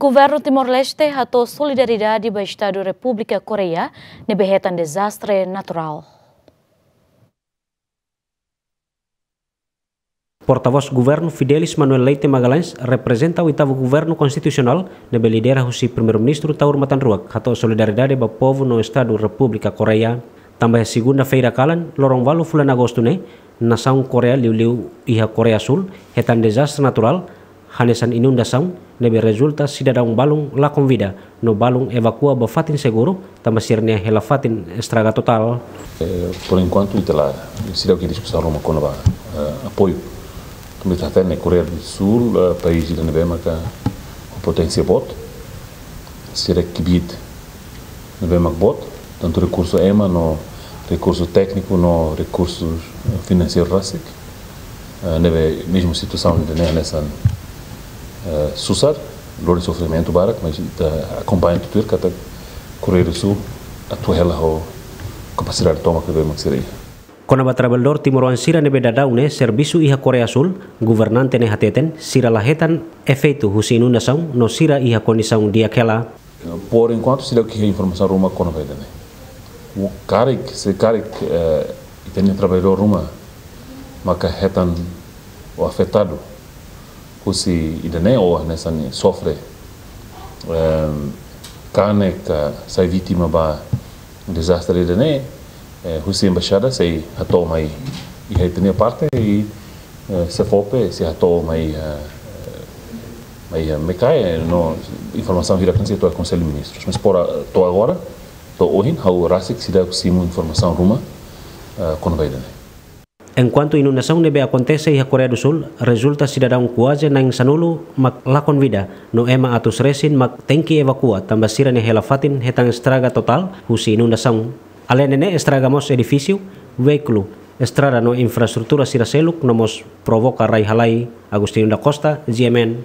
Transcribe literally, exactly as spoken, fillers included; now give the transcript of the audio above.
Governu Timor-Leste hato'o solidariedade ba Estadu Repúblika Koreia ne'ebé hetan dezastre naturál. Portavós Governu Fidelis Manuel Leite Magalhães reprezenta oitavu Governu Konstitusionál ne'ebé lidera husi Primeiru-Ministru Taur Matan Ruak hato'o solidariedade ba povu no Estadu Repúblika Koreia. Tanba iha segunda-feira kalan, loron ualu fulan Agostu ne'e, nasaun Koreia liuliu iha Koreia Súl hetan dezastre naturál, hanesan inundasaun ne'ebé rezulta sidadaun balun lakon vida no balun evakua ba fatin seguru, tanba sira-nia hela-fatin estraga totál. Eh, por enkuantu, ita la, seidauk iha diskusaun ruma kona-ba, eh, apoiu. Tanba ita hatene Koreia do Súl, eh, país ida ne'ebé maka ho poténsia boot, sira kbiit ne'ebé mak boot, tantu rekursu ema no rekursu tékniku no rekursu, eh, finanseiru rasik. Eh, ne'ebé mezmu situasaun ida-ne'e hanesan, eh, susar, lori sofrimentu barak, mas ita akompaña tuir katak Koreia do Súl atua hela ho kapasidade tomak ne'ebé mak sira iha. Kona-ba trabalhadór timoroan sira ne'ebé daudaun ne'e servisu iha Koreia Súl, governante ne'e hateten sira la hetan efeitu husi inundasaun no sira iha kondisaun di'ak hela. Por enkuantu, seidauk iha informasaun ruma kona-ba ida-ne'e. Karik, se karik, eh, ita-nia trabalhadór ruma maka hetan ou afetadu husi ida-ne'e ou hanesan sofre, ehm, kanek ka sai vítima ba dezastre ida-ne'e, eh, husi embaixada sei hato'o mai iha ita-nia parte i, eh, SEFOPE sei hato'o mai, eh, mai, eh, Mekae, no informasaun hirak ne'e sei to'o Konsellu Ministrus. Mas por a-, to'o agora, to'o ohin, ha'u rasik seidauk simu informasaun ruma, eh, kona-ba ida-ne'e. Enkuantu inundasaun ne'ebé akontese iha Koreia do Súl, rezulta sidadaun kuaze na'in sanulu mak lakon vida, no ema atus resin mak tenke evakua, tanba sira-nia hela-fatin hetan estraga totál husi inundasaun. Aleinde ne'e estraga mós edifísiu, veíkulu, estrada no infraestrutura sira seluk, no mós provoka rai-halai. Agostinho da Costa, G M N,